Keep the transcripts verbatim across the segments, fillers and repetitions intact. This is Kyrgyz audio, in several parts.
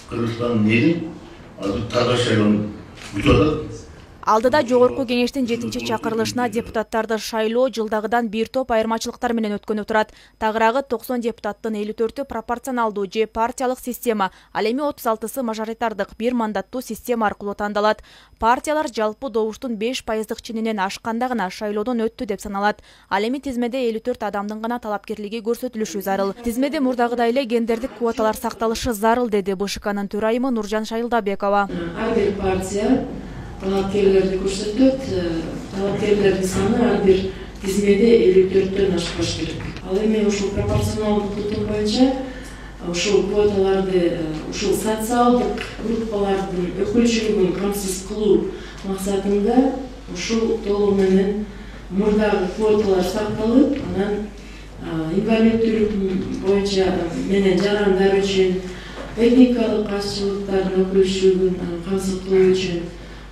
Кыргызстандын эли азыр таза шайлоону күтүп атат. Алдыда жогорку кеңештин жетинчи чакырылышына депутаттарды шайлоо жылдагыдан бир топ айырмачылыктар менен өткөнү турат. Тагыраагы токсон депутаттын элүү төртү пропорционалдуу же партиялык система, ал эми отуз алтысы мажоритардык бир мандаттуу система аркылуу тандалат. Партиялар жалпы добуштун беш пайыздык ченинен ашканда гана шайлоодон өттү деп саналат. Ал эми тизмеде элүү төрт адамдын гана талапкерлиги көрсөтүлүшү зарыл. Тизмеде мурдагыдай эле гендердик квоталар сакталышы зарыл, деди Б Ш Кнын төрайымы Нуржан Шайылдабекова. Ар бир партия талапкерлерди көрсөтөт, талапкерлердин саны ар бир тизмеде элүү төрттөн ашпаш керек. Ал эми ушул пропорционалдык тутум боюнча ушул квоталарды ушул социалдык группалардын өкүлчүлүгүн камсыз кылуу максатында ушул толугу менен мурдагы квоталар сакталып, анан инвалиддүүлүк боюнча менен жарандар үчүн, этникалык азчылыктардын өкүлчүлүгүн камсыз кылуу үчүн,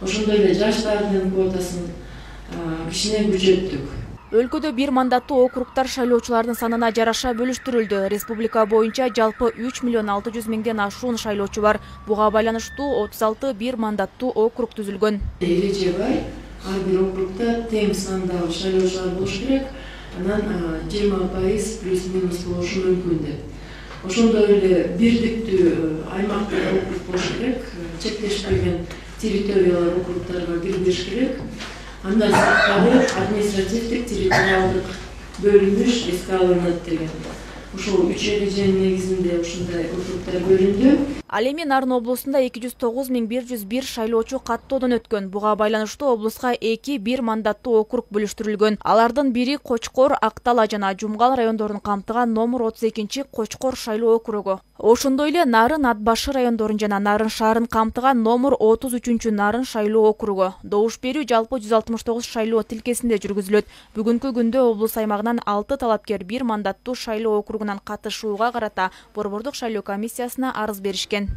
ошондой эле жаштардын квотасын кичине күчөттүк. Өлкөдө бир мандаттуу округтар шайлоочулардын санына жараша бөлүштүрүлдү. Республика боюнча жалпы үч миллион алты жүз миңден ашуун шайлоочу бар. Буга байланыштуу отуз алты бир мандаттуу округ түзүлгөн. Эреже бар. Ар бир округда тең сандагы шайлоочулар болуш керек. Анан жыйырма пайыз плюс-минус болушу мүмкүн деп. Ошондой эле бирдиктүү аймактык округ болуш керек. Чектешпеген территориялар округтарга киргизиш керек. Андан сырткары административдик территориалдык бөлүнүш эске алынат деген. Ушул үч эреженин негизинде ушундай округтар бөлүндү. Ал эми Нарын облусунда эки жүз тогуз миң бир жүз бир шайлоочу каттоодон өткөн. Буга байланыштуу облуска эки бир мандаттуу округ бөлүштүрүлгөн. Алардын бири Кочкор, Актала жана Жумгал райондорун камтыган номер отуз экинчи Кочкор шайлоо округу. Ошондой эле Нарын, Ат башы райондорун жана Нарын шаарын камтыган номер отуз үчүнчү Нарын шайлоо округу. Добуш берүү жалпы жүз алтымыш тогуз шайлоо тилкесинде жүргүзүлөт. Бүгүнкү күндө облус аймагынан алты талапкер бир мандаттуу шайлоо округунан катышууга карата Борбордук шайлоо комиссиясына арыз беришкен.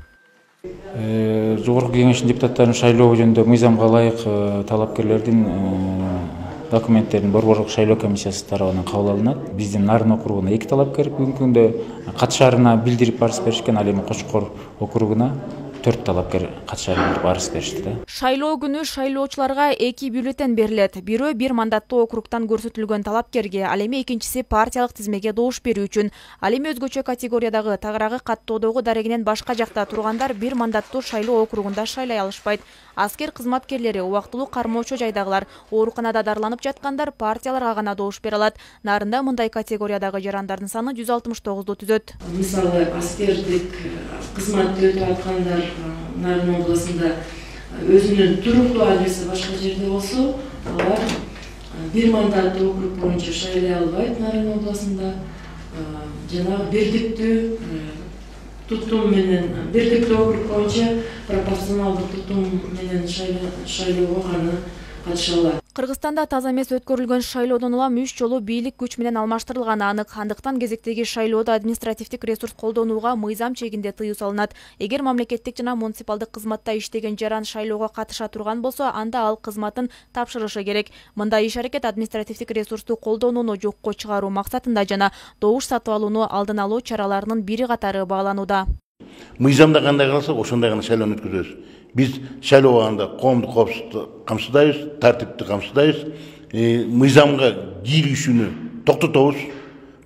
Жогорку кеңештин депутаттарын шайлоо жөнүндө мыйзамга ылайык талапкерлердин документтерин Борбордук шайлоо комиссиясы тарабынан кабыл алынат. Биздин Нарын округуна эки талапкер бүгүнкү күндө катышаарына билдирип арыз беришкен, ал эми Кочкор округуна төрт талапкер катышаарына арыз беришти да. Шайлоо күнү шайлоочуларга эки бюллетен берилет. Бирөө бир мандаттуу округтан көрсөтүлгөн талапкерге, ал эми экинчиси партиялык тизмеге добуш берүү үчүн. Ал эми өзгөчө категориядагы тагыраагы каттоодогу дарегинен башка жакта тургандар бир мандаттуу шайлоо округунда шайлай алышпайт. Аскер кызматкерлери, убактылуу кармоочу жайдагылар, ооруканада дарыланып жаткандар партияларга гана добуш бере алат. Нарында мындай категориядагы жарандардын саны жүз алтымыш тогузду түзөт. Мисалы, аскердик кызматты өтүп аткандар Нарын областында өзүнүн туруктуу адреси башка жерде болсо, алар бир мандаттуу округ боюнча шайлай албайт Нарын областында. Жана бирдиктүү тутум менен, бирдиктүү округ боюнча пропорционалдык тутум менен шайлоого гана катыша алат. Кыргызстанда таза эмес өткөрүлгөн шайлоодон улам үч жолу бийлик күч менен алмаштырылганы анык. Андыктан кезектеги шайлоодо административдик ресурс колдонууга мыйзам чегинде тыюу салынат. Эгер мамлекеттик жана муниципалдык кызматта иштеген жаран шайлоого катыша турган болсо, анда ал кызматын тапшырышы керек. Мындай иш-аракет административдик ресурсту колдонууну жокко чыгаруу максатында жана добуш сатып алууну алдын алуу чараларынын бири катары бааланууда. Мыйзамда кандай калса, ошондой гана шайлоону өткөзөбүз. Биз шайлоо убагында коомдук коопсуздукту камсыздайбыз, тартипти камсыздайбыз, мыйзамга кийилишүүнү токтотобуз.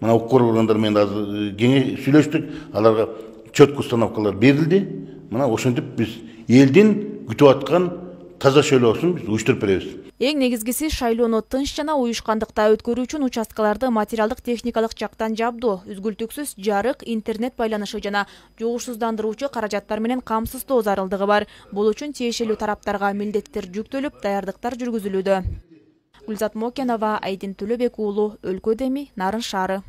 Мына укук органдар менен азыр кеңеш сүйлөштүк, аларга четкий установкалар берилди. Мына ошентип биз элдин күтүп аткан таза шайлоосун биз уюштуруп беребиз. Эң негизгиси шайлоону тынч жана уюшкандыкта өткөрүү үчүн участкаларды материалдык техникалык жактан жабдуу, үзгүлтүксүз жарык, интернет байланышы жана жугушсуздандыруучу каражаттар менен камсыздоо зарылдыгы бар. Бул үчүн тиешелүү тараптарга милдеттер жүктөлүп, даярдыктар жүргүзүлүүдө. Гүлзат Мокенова, Айдин Төлөбек уулу, Өлкө Деми, Нарын шаары.